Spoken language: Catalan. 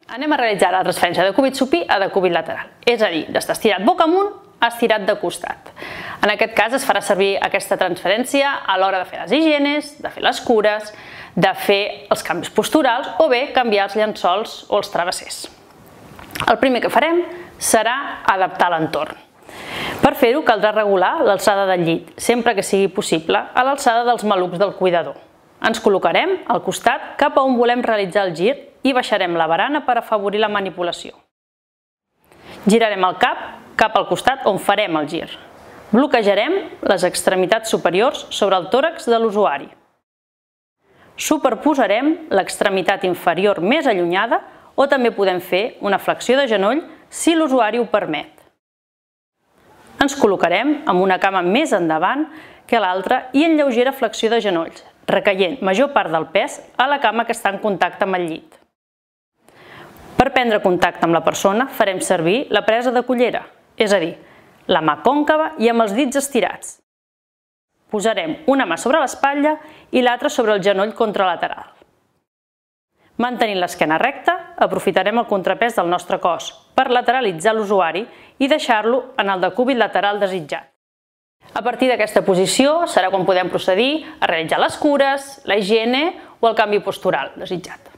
Anem a realitzar la transferència de cúbit supí a decúbit lateral, és a dir, d'estar estirat boca amunt a estirat de costat. En aquest cas es farà servir aquesta transferència a l'hora de fer les higienes, de fer les cures, de fer els canvis posturals o bé canviar els llençols o els travessers. El primer que farem serà adaptar l'entorn. Per fer-ho caldrà regular l'alçada del llit, sempre que sigui possible, a l'alçada dels malucs del cuidador. Ens col·locarem al costat cap a on volem realitzar el gir i baixarem la barana per afavorir la manipulació. Girarem el cap al costat on farem el gir. Bloquejarem les extremitats superiors sobre el tòrax de l'usuari. Superposarem l'extremitat inferior més allunyada o també podem fer una flexió de genoll si l'usuari ho permet. Ens col·locarem amb una cama més endavant que l'altra i en lleugera flexió de genolls, recaient major part del pes a la cama que està en contacte amb el llit. Per prendre contacte amb la persona farem servir la presa de cullera, és a dir, la mà còncava i amb els dits estirats. Posarem una mà sobre l'espatlla i l'altra sobre el genoll contralateral. Mantenint l'esquena recta, aprofitarem el contrapès del nostre cos per lateralitzar l'usuari i deixar-lo en el decúbit lateral desitjat. A partir d'aquesta posició serà quan podem procedir a realitzar les cures, la higiene o el canvi postural desitjat.